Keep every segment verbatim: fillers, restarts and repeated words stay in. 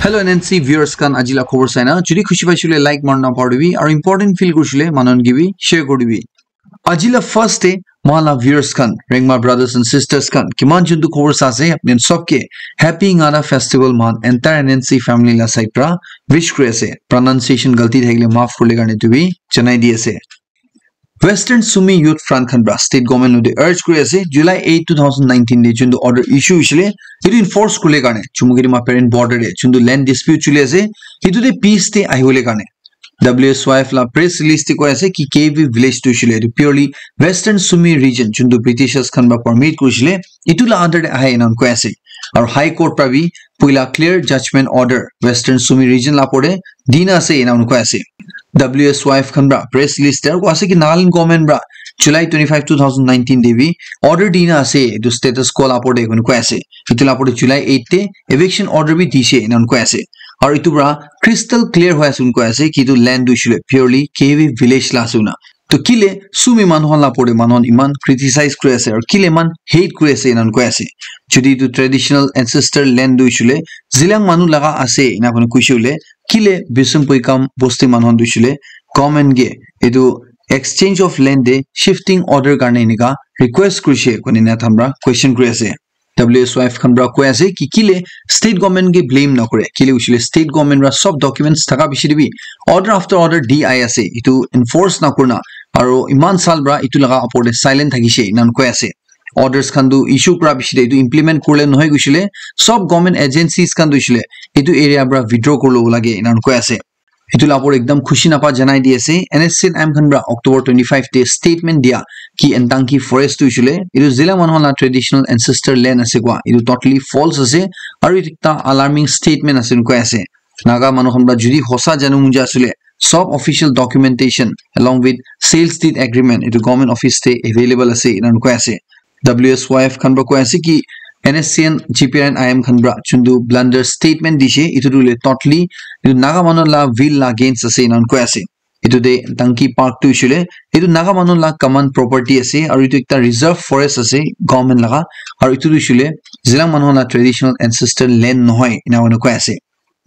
Hello N N C viewers khan, aji la khobor saina jodi khushi paisile like marna paribi aru important feel kurisile manu khan ke bi share kuri dibi. Aji la first day, moi la viewers khan, Rengma brothers and sisters khan, kiman juntu khobor sa ase, apni khan sob ke happy Ngara festival moi entire N N C family la side pra wish kuri ase. Pronunciation galti thakile maaf kurle karne tu bi janai di ase. Western Sumi Youth Front khan pra state government te urge kuri ase, July eight, two thousand nineteen te juntu order issue hoisile, etu enforce kurle karne Chumukirima parent border te juntu land dispute chuli ase, etu te peace te ahibole karne. W S Y F la press release te koi ase ki K V village tu hoisile etu purely Western Sumi region juntu Britishers khan pra permit kurisile, etu la under te ahe enan koi ase. Aru High Court pra bi puila clear judgment order Western Sumi region la pore dina ase enan koi ase. W S Y F khan pra press release te aru koi ase ki Nagaland government pra July twenty-five, two thousand nineteen te bi order dina ase etu status quo la pore koi ase. Etu la pore July eight te eviction order bi dise enan koi ase. Aru etu pra crystal clear hoi ase koi ase ki etu land tu hoisile purely K V village la ase na. To kile Sumi manu khan la pore manu khan iman criticize kuri ase aru kile iman hate kuri ase enan koi ase. Jodi etu traditional ancestor land tu hoisile Zilang manu laga ase ena koi koisile kile Bisum Puikam bosti manu khan tu hoisile government ke etu exchange of land te shifting order karne enika request kurise koine na tham pra question kuri ase. W S Y F khan pra koi ase ki kile state government ke blame nakore, kile hoisile state government pra sob documents thaka bishi te bi order after order di ai ase, etu enforce nakurna aru iman sal pra etu laga upor te silent thakise enan koi ase. Orders khan tu issue kura bishi te etu implement kurle nohoi koisile sob government agencies khan tu hoisile etu area pra withdraw kurlo lage enan koi ase. Etu la pore ekdam khushi napa janai di ase. N S C N I M khan pra October twenty-five te statement dia ki Entangki forest tu hoisile etu Zilang manu khan la traditional ancestor land ase koi, etu totally false ase aru etu ekta alarming statement ase koi ase. Naga manu khan pra jodi hosa janu muja asile sob official documentation along with sales deed agreement etu government office te available ase enan koi ase. W S Y F khan pra koi ase ki N S C N, G P R and I M khan pra juntu blunder statement dise, etu tu le totally etu Naga manu la will la against ase enan koi ase. Etu te Danki Park tu hoisile etu Naga manu la common property ase aru etu ekta reserve forest ase government laga, aru etu tu hoisile Zilang manu la traditional ancestor land nohoi ena koi ase.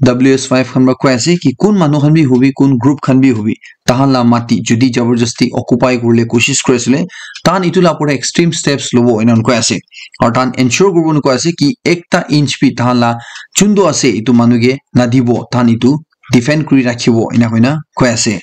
W S Y F khan pra koi ase ki kun manu khan bi hobi, kun group khan bi hobi, tahan la mati jodi jabardasti occupy kurle koshish kuri asile, tahan etu la pore extreme steps lobo enan koi ase. Aru tahan ensure kuribo enan koi ase ki ekta inch bi tahan la juntu ase etu manu ke nadibo, tahan etu defend kuri rakhibo ena koina koi ase.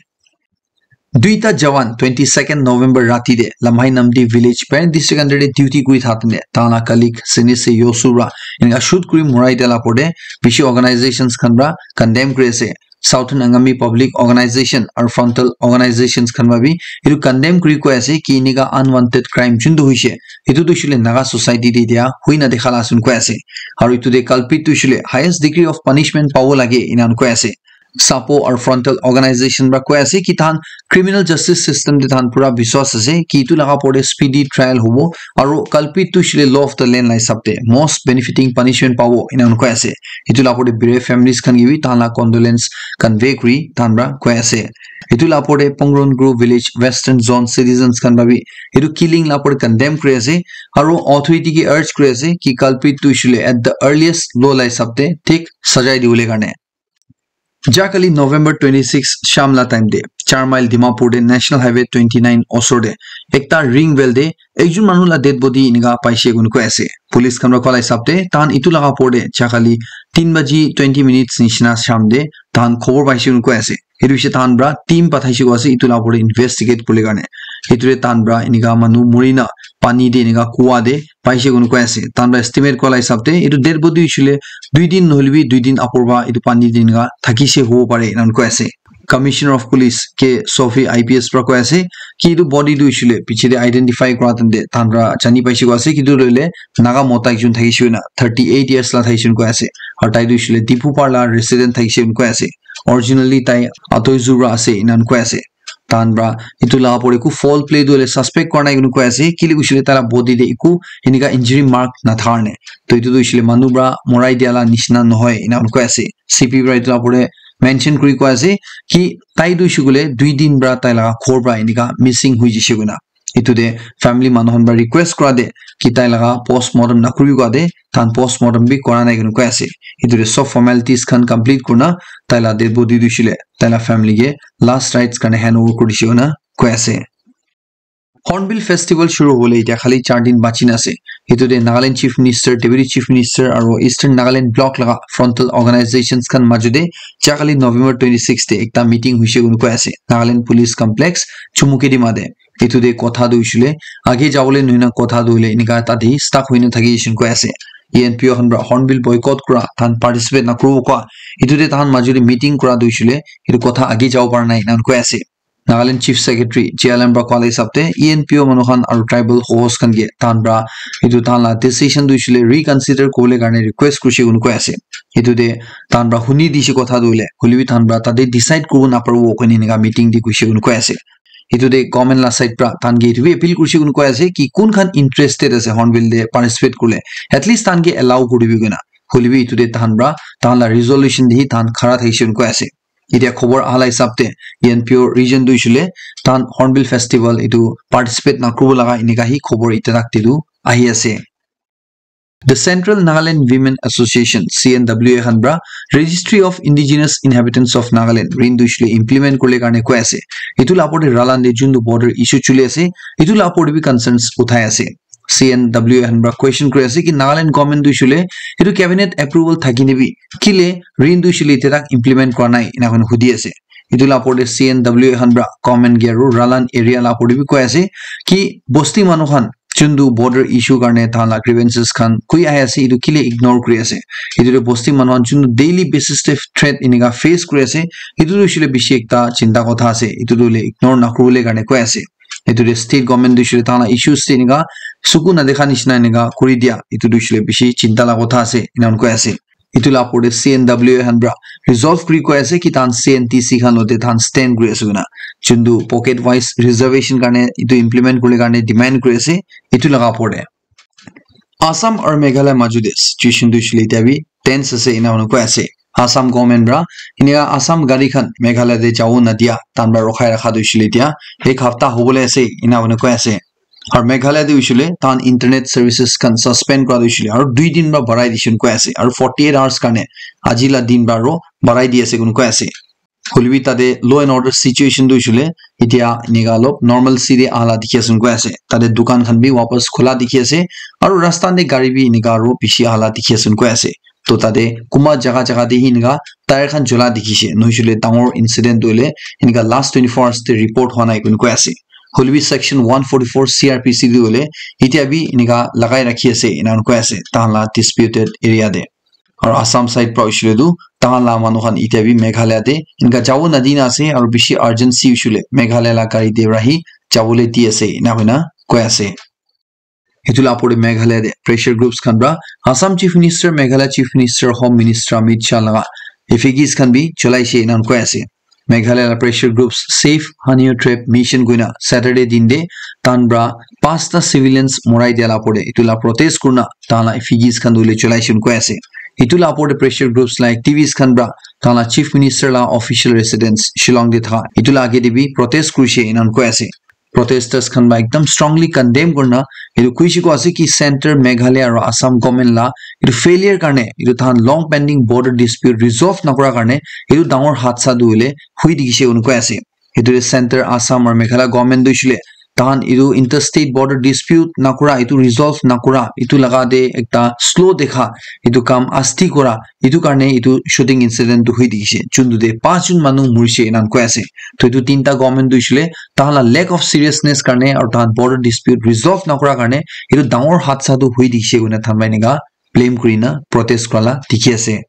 Duita jawan twenty-second November rati te Lamhai Namdi village parent district under te duty kuri thakte tahan la colleague Senise Yosu pra enika shoot kuri morai dia la pore bishi organizations khan pra condemn kuri ase. Southern Angami Public Organization aru frontal organizations khan pra bi etu condemn kuri koi ase ki enika unwanted crime juntu hoise etu tu hoisile Naga society te dia hoi na dekha la ase koi ase. Aru etu te culprit tu hoisile highest degree of punishment pabo lage enan koi ase. Sapo aru frontal organization pra koi ase ki tahan criminal justice system te tahan pura biswas ase ki etu laga pore speedy trial hobo aru culprit tu hoisile law of the land la hisab te most benefiting punishment pabo enan koi ase. Etu la pore bere families khan ke bi tahan la condolence convey kuri tahan pra koi ase. Etu la pore Pongron Grove village western zone citizens khan pra bi etu killing la pore condemn kuri ase aru authority ke urge kuri ase ki culprit tu hoisile at the earliest law la hisab te thik sajai dibole karne. Jakali November twenty-six sham la time te char mile Dimapur te National Highway twenty-nine osor te ekta ring well te ekjon manu la dead body enika paise koi ase. Police khan pra koi la hisab te tahan etu laga pore jakali tin baji twenty minutes nishina sham te tahan khobor paise koi ase. Etu bishi tahan pra team pathaise koi ase etu la pore investigate kurle karne. Etu te tahan pra enika manu murina pani te enika kua te paise koi ase. Tahan pra estimate koi la hisab te etu dead body hoisile dui din nohole bi dui din apor pra etu pani te enika thakise hobo pare enan koi ase. Commissioner of Police K Sophie I P S pra koi ase ki etu body tu hoisile piche te identify kura time te tahan pra jani paise koi ase ki etu tu hoile Naga mota ekjon thakise na thirty eight years la thakise koi ase. Aru tai tu hoisile Dipupar la resident thakise koi ase. Originally tai Atoi Zura ase enan koi ase. Tahan pra etu la pore eku foul play tu hoile suspect kora nai koi ase kile hoisile tai la body te eku enika injury mark nathaka karne. To etu tu hoisile manu pra morai dia la nishina nohoi enan koi ase. C P pra etu la pore mention kuri koi ase ki tai tu hoishe koile dui din pra tai laga ghor pra enika missing hoi jaise koina. Etu te family manu khan para request kura de ki tai laga post mortem na kuri kua de tahan post mortem bi kora nai koi kena koi ase. Etu te sob formalities khan complete kurina tai la dead body tu hoishe le tai la family ke last rites karne hand over kuri dishe koi na koi ase. Hornbill Festival shuru hobole etia khali char din bachi na ase. Etu te Nagaland Chief Minister, Deputy Chief Minister aru Eastern Nagaland Block laga frontal organizations khan majo te ja kali November twenty six te ekta meeting hoishe koi kena koi ase Nagaland Police Complex, Chumukedima te. Etu te kotha tu hoishe le age jabole nohoi na kotha tu hoile enika tate stuck hoina thaki ase koi ase. E N P O khan para Hornbill boycott kura, tahan participate na kuribo koa. Etu te tahan majo te meeting kura tu hoishe le etu kotha age jabo para nai ena koi ase. Nagaland Chief Secretary J L M para koa la hisab te E N P O manu khan aru tribal host khan ke tahan para etu tahan la decision tu hoishe le reconsider kobole karne request kurishe koi kena koi ase. Etu te tahan para huni dishe kotha tu hoile, hoile bi tahan para tate decide kuribo naparibo koi kena enika meeting te kurishe koi kena koi ase. Etu te government la side para tahan ke etu bi appeal kurishe koi kena koi ase ki kun khan interested ase Hornbill te participate kurle, at least tahan ke allow kuri dibi koi kena. Hoile bi etu te tahan para tahan la resolution te hi tahan khara thakishe koi kena koi ase. Etia khobor aha la hisab te E N P O region tu hoishe le tahan Hornbill Festival etu participate na kuribo laga enika hi khobor etia tak te tu ahi ase. The Central Nagaland Women Association, C N W A khan para Registry of Indigenous Inhabitants of Nagaland, rin tu hoishe le implement kurle karne koi ase. Etu la opor te Ralan te jun tu border issue chuli ase, etu la opor te bi concerns uthai ase. C N W A khan para question kuri ase ki Nagaland government tu hoishe le etu cabinet approval thaki ne bi kile rin tu hoishe le etia tak implement kura nai ena koi kena hudi ase. Etu la opor te C N W A khan para government ke aru Ralan area la opor te bi koi ase ki bosti manu khan jun tu border issue karne tahan la grievances khan koi ahi ase etu kile ignore kuri ase. Etu te bosti manu khan jun tu daily basis te threat enika face kuri ase. Etu tu hoishe le bishi ekta chinta kotha ase. Etu tu hoile ignore na kuribole karne koi ase. Etu te state government tu hoishe le tahan la issues te enika suku na dekha nishina enika kuri dia. Etu tu hoishe le bishi chinta la kotha ase ena koi ase. Etu la opor te C N W A khan para resolve kuri koi ase ki tahan C N T C khan lote tahan stand kuri ase koi kena. Jun tu pocket wise reservation karne etu implement kuribole karne demand kuri ase. Etu laga opor te Assam aru Meghalaya majo te situation tu hoishe le etia bi tense ase ena koi kena koi ase. Assam government para enika Assam gari khan Meghalaya te jabo nadia tahan para rokhai rakha tu hoishe le etia ek hapta hobole ase ena koi kena koi ase. Aru Meghalaya te hoishe le tahan internet services khan suspend kura tu hoishe le aru dui din para barai dishe koi ase aru forty eight hours karne aji la din para aru barai di ase koi kena koi ase. Hoile bi tate law and order situation tu hoishe le etia enika olop normalcy te aha la dikhi ase koi ase. Tate dukan khan bi wapas khula dikhi ase aru rasta te gari bi enika aru bishi aha la dikhi ase koi ase. To tate kunba jaga jaga te hi enika tyre khan jola dikhi se. Nohoishe le dangor incident tu hoile enika last twenty four hours te report hua nai koi kena koi ase. Hoile bi section one forty four C R P C tu hoile etia bi enika lagai rakhi ase ena koi ase tahan la disputed area te. Aru Assam side para hoishe le tu tahan la manu khan etia bi Meghalaya te enika jabo nadi na ase aru bishi urgency hoishe le Meghalaya la gari te para hi jabole di ase ena koi kena koi ase. Etu la opor te Meghalaya te pressure groups khan para Assam Chief Minister, Meghalaya Chief Minister, Home Minister Amit Shah laga effigies khan bi jolai she ena koi ase. Meghalaya la pressure groups Save Hanyu Tribe Mission koi kena Saturday din te tahan para pasta civilians morai dia la opor te etu la protest kurina tahan la effigies khan tu hoile jolai she koi ase. Etu la opor te pressure groups la activists khan para tahan la Chief Minister la official residence Shillong te thaka etu la age te bi protest kuri she ena koi ase. Protesters khan para ekdam strongly condemn kurina etu koi she koi ase ki Centre, Meghalaya aru Assam government la etu failure karne etu tahan long pending border dispute resolve nakura karne etu dangor hadsa tu hoile hui dikhi she koi kena koi ase. Etu te Centre, Assam aru Meghalaya government tu hoishe le tahan etu interstate border dispute nakura, etu resolve nakura, etu laga te ekta slow dekha, etu kam asti kura, etu karne etu shooting incident tu hui dikhi she. Jun tu te panch jun manu muri she ena koi ase. To etu tinta government tu hoishe le tahan la lack of seriousness karne aru tahan border dispute resolve nakura karne etu dangor hadsa tu hui dikhi she koi kena tahan para enika blame kurina protest kura la dikhi ase.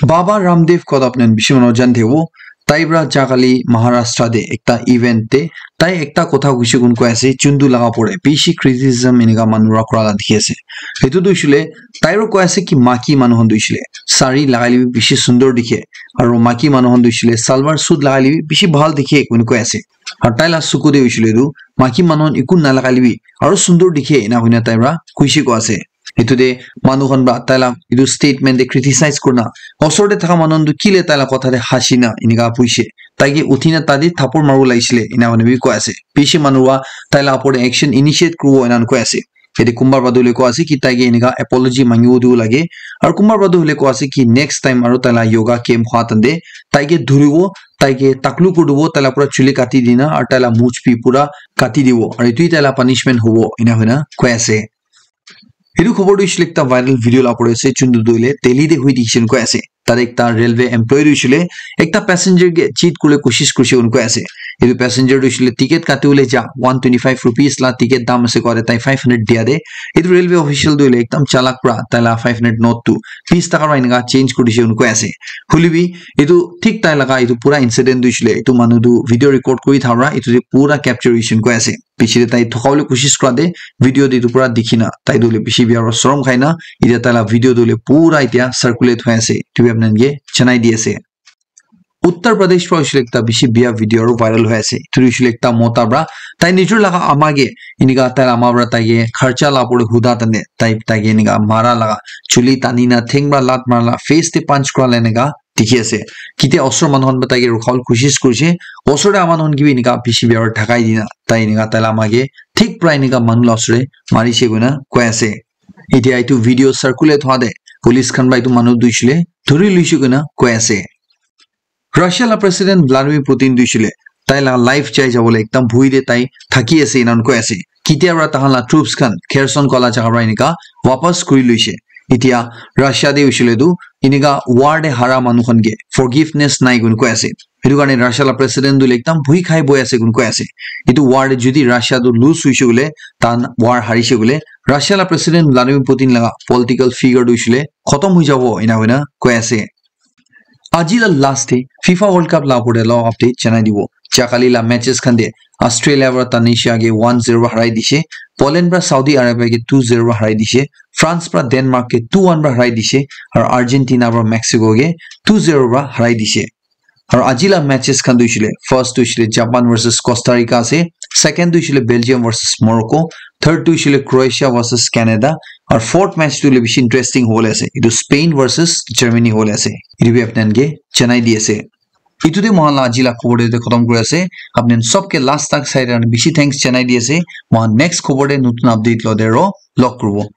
Baba Ramdev kotha apni khan bishi manu jani thakibo. Tai para ja kali Maharashtra te ekta event te tai ekta kotha koise koi kena koi ase, juntu laga opor te bishi criticism enika manu para kura la dikhi ase. Etu tu hoishe le tai para koi ase ki maiki manu khan tu hoishe le sari lagai le bi bishi sundor dikhe, aru maiki manu khan tu hoishe le salwar suit lagai le bi bishi bhal dikhe koi kena koi ase. Aru tai la suku te hoishe le tu maiki manu khan eku nalagai le bi aru sundor dikhe ena koi kena tai para koise koi ase. Etu te manu khan para tai la etu statement te criticize kurina, osor te thaka manu khan tu kile tai la kotha te hasi na enika puishe. taike uthina tate thapor maribo lagisile, ena hoina bi koi ase. Bishi manu wa taila opor te action initiate kuribo ena koi ase. Yate kunba para tu hoile koi ase ki taike enika apology mangibo dibo lage. Aru kunba para tu hoile koi ase ki next time aru taila yoga camp hua tante taike dhuribo, taike taklu kuri dibo, taila pura chuli kati dina, aru taila much bi pura kati dibo. Aru etu taila punishment hobo, ena hoina koi ase. Etu khobor tu hoishe le ekta viral video la pore ase, chuntu tu hoile Delhi te hui dikhishe koi ase. Tate ekta railway employee tu hoishe le ekta passenger ke cheat kuribole koshish kurishe koi ase. Etu passenger tu hoishe le ticket kati bole ja one twenty five rupees la ticket dam ase koa te tai five hundred dia te. Etu railway official tu hoile ekdam chalak para taila five hundred note tu bis taka para enika change kurishe koi ase. Hoile bi etu thik tai laga etu pura incident tu hoishe le etu manu tu video record kuri thaka para etu te pura capture hoishe koi ase. Piche te tai thoka bole koshish kura te video te etu pura dikhi na tai tu hoile bishi bia para sorom khai na etia taila video tu hoile pura etia circulate hoi ase. Etu bi apni khan ke janai di ase. Uttar Pradesh para hoishe le ekta bishi bia video aru viral hoi ase. Etu hoishe le ekta mota para tai nijor laga ama ke enika taila ama para taike kharcha la pore huda tane tai taike enika mara laga chuli tani na theng para lat mara la face te punch kura la enika dikhi ase. Kitia osor manu khan para taike rukha bole koshish kurishe. Osor te ama khan ke bi enika bishi bia para thakai dina tai enika taila ama ke thik para enika manu la osor te marishe koina koi ase. Etia etu video circulate hua te police khan para etu manu tu hoishe le dhuri loishe koina koi ase. Russia la President Vladimir Putin tu hoishe le tai la life jai jabo le ekdam bhui te tai thaki ase ena koi ase. Kitia para tahan la troops khan Kherson koa la jaga para enika wapas kuri loishe. Etia Russia te hoishe le tu enika war te hara manu khan ke forgiveness nai koi ase. Etu karne Russia la president tu hoile ekdam bhui khai boi ase koi ase. Etu war te jodi Russia tu lose hoishe koile, tahan war harishe koile, Russia la president Vladimir Putin laga political figure tu hoishe le khotom hoi jabo ena hoina koi ase. Aji la last te FIFA World Cup la opor te la update janai dibo. Jakali la matches khan te Australia para Tunisia ke one zero para harai dishe, Poland para Saudi Arabia ke two zero para harai dishe, France para Denmark ke two one para harai dishe, aru Argentina para Mexico ke two zero para harai dishe. Aru aji la matches khan tu hoishe le, first tu hoishe le Japan versus Costa Rica ase, second tu hoishe le Belgium versus Morocco, third tu hoishe le Croatia versus Canada, aru fourth match tu hoile bishi interesting hobole ase. Etu Spain versus Germany hobole ase. Etu bi apni khan ke janai di ase. Etu te moikhan la aji la khobor te khotom kuri ase. Apni khan sob ke last tak sai kena bishi thanks janai di ase. Moikhan next khobor te notun update lo te ro log kuribo.